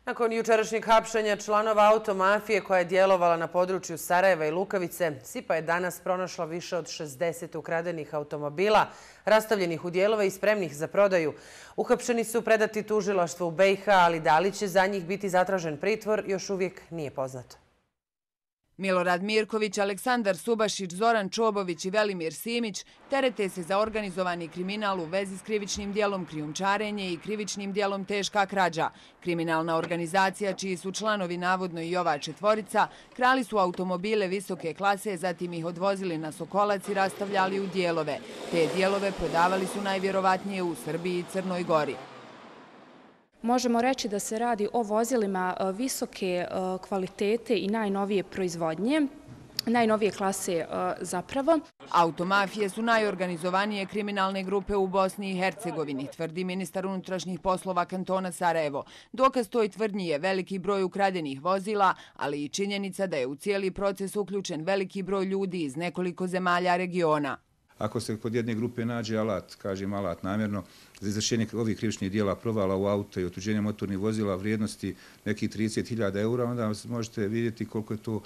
Nakon jučerašnjeg hapšenja članova automafije koja je djelovala na području Sarajeva i Lukavice, SIPA je danas pronašla više od 60 ukradenih automobila, rastavljenih u dijelove i spremnih za prodaju. Uhapšeni su predati tužilaštvu u BiH, ali da li će za njih biti zatražen pritvor još uvijek nije poznato. Milorad Mirković, Aleksandar Subašić, Zoran Čobović i Velimir Simić terete se za organizovani kriminal u vezi s krivičnim dijelom krijumčarenje i krivičnim dijelom teška krađa. Kriminalna organizacija, čiji su članovi navodno i ova četvorica, krali su automobile visoke klase, zatim ih odvozili na Sokolac i rastavljali u dijelove. Te dijelove prodavali su najvjerovatnije u Srbiji i Crnoj Gori. Možemo reći da se radi o vozilima visoke kvalitete i najnovije proizvodnje, najnovije klase zapravo. Automafije su najorganizovanije kriminalne grupe u Bosni i Hercegovini, tvrdi ministar unutrašnjih poslova kantona Sarajevo. Dokaz toj tvrdnji je veliki broj ukradenih vozila, ali i činjenica da je u cijeli proces uključen veliki broj ljudi iz nekoliko zemalja regiona. Ako se kod jedne grupe nađe alat, kažem alat namjerno, za izvršenje ovih krivičnih dijela provala u auto i otuđenje motornih vozila vrijednosti nekih 30.000 eura, onda možete vidjeti koliko je to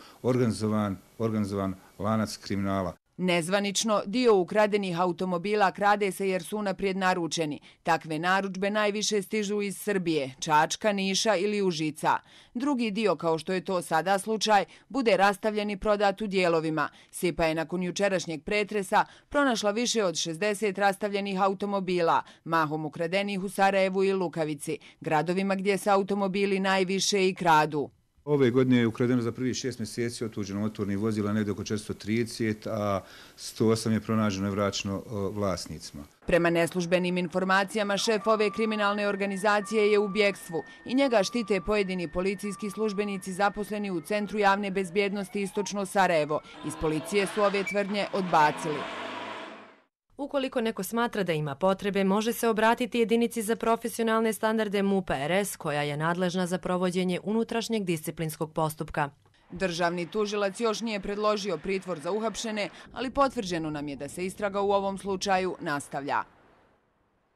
organizovan lanac kriminala. Nezvanično, dio ukradenih automobila krade se jer su unaprijed naručeni. Takve narudžbe najviše stižu iz Srbije, Čačka, Niša ili Užica. Drugi dio, kao što je to sada slučaj, bude rastavljen i prodat u dijelovima. SIPA je nakon jučerašnjeg pretresa pronašla više od 60 rastavljenih automobila, mahom ukradenih u Sarajevu i Lukavici, gradovima gdje se automobili najviše i kradu. Ove godine je ukradeno za prvih 6 mjeseci otuđeno motornih vozila negdje oko 430, a 108 je pronađeno i vraćeno vlasnicima. Prema neslužbenim informacijama, šef ove kriminalne organizacije je u bjegstvu i njega štite pojedini policijski službenici zaposleni u Centru javne bezbjednosti Istočno Sarajevo. Iz policije su ove tvrdnje odbacili. Ukoliko neko smatra da ima potrebe, može se obratiti jedinici za profesionalne standarde MUP-a RS, koja je nadležna za provođenje unutrašnjeg disciplinskog postupka. Državni tužilac još nije predložio pritvor za uhapšene, ali potvrđeno nam je da se istraga u ovom slučaju nastavlja.